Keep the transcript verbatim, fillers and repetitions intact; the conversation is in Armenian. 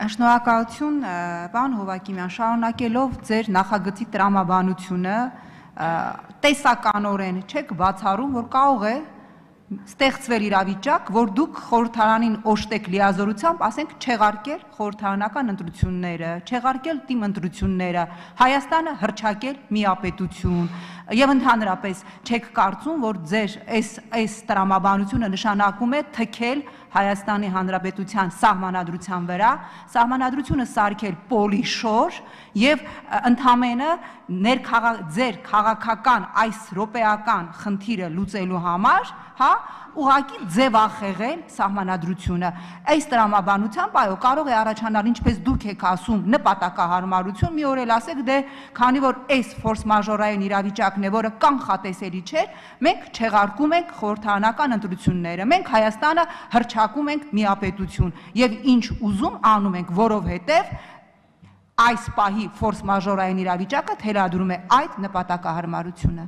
Շնորհակալություն, պարոն Հովակիմյան, շարունակելով ձեր նախագծի տրամաբանությունը, տեսականորեն չեք բացառում, որ կարող է ստեղծվել իրավիճակ, որ դուք խորհրդարանին օժտեք լիազորությամբ, ասենք, չեղարկել խորհրդարանական ընտրությունները, չեղարկել թիմ ընտրությունները, Հայաստանը հռչակել միապետություն, եւ ընդհանրապես չեք կարծում, որ ձեր այս տրամաբանությունը նշանակում է թքել Հայաստանի Հանրապետության սահմանադրության վրա, սահմանադրությունը սարքել պոլիշոր եւ ընդամենը ձեր քաղաքական այս ռոպեական խնդիրը լուծելու համար, հա, ուղղակի ձևախեղել սահմանադրությունը։ Այս տրամաբանությամբ, այո, կարող է առաջանալ, ինչպես դուք եք ասում, նպատակահարմարություն, մի օր էլ ասեք, դե քանի որ այս ֆորս մաժորային իրավիճակն է, որը կանխատեսելի չէ, մենք չեղարկում ենք խորհրդարանական ընտրությունները, մենք Հայաստանը հռչակում ենք միապետություն եւ ինչ ուզում անում ենք, որովհետեւ այս պահի ֆորս մաժորային իրավիճակը թելադրում է այդ նպատակահարմարությունը։